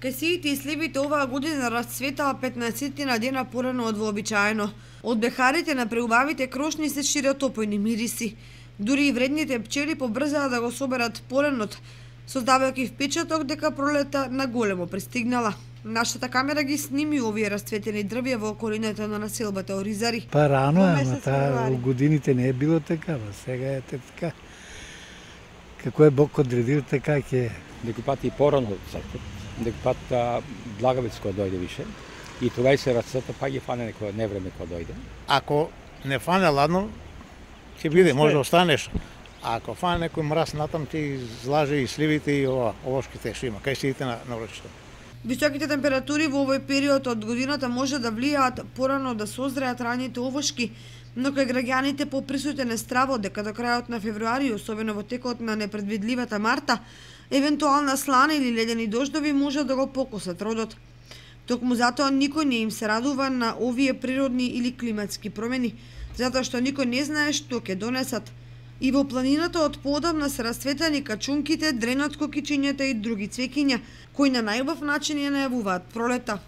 Кајсиите и сливите оваа година расцветаа 15 дена порано од вообичаено. Од бехарите на преубавите крошни се шират опојни мириси. Дури и вредните пчели побрзаа да го соберат поренот, создавајќи впечаток дека пролета на големо пристигнала. Нашата камера ги сними овие расцветени дрвја во околината на населбата Оризари. Па рано е, ама таа во годините не е било така, сега е така. Како е Бог одредил, така ќе е. Некој пат и порано цркот, некој пат благовец кога дојде више, и тогава се расцвета, па ги фане некој невреме кога дојде. Ако не фане ладно, ќе биде, може да останеш. А ако фане некој мраз натам, ти излаже и сливите и овошките што има, кајсиите на врачето. Високите температури во овој период од годината може да влијаат порано да созреат раните овошки, но кај граѓаните поприсутен е стравот дека до крајот на февруари, особено во текот на непредвидливата марта, евентуална слана или ледени дождови може да го покосат родот. Токму затоа никој не им се радува на овие природни или климатски промени, затоа што никој не знае што ќе донесат. И во планината од поодамна се расцветани качунките, дренот, кокичињата и други цвеќиња, кои на најубав начин ја најавуваат пролета.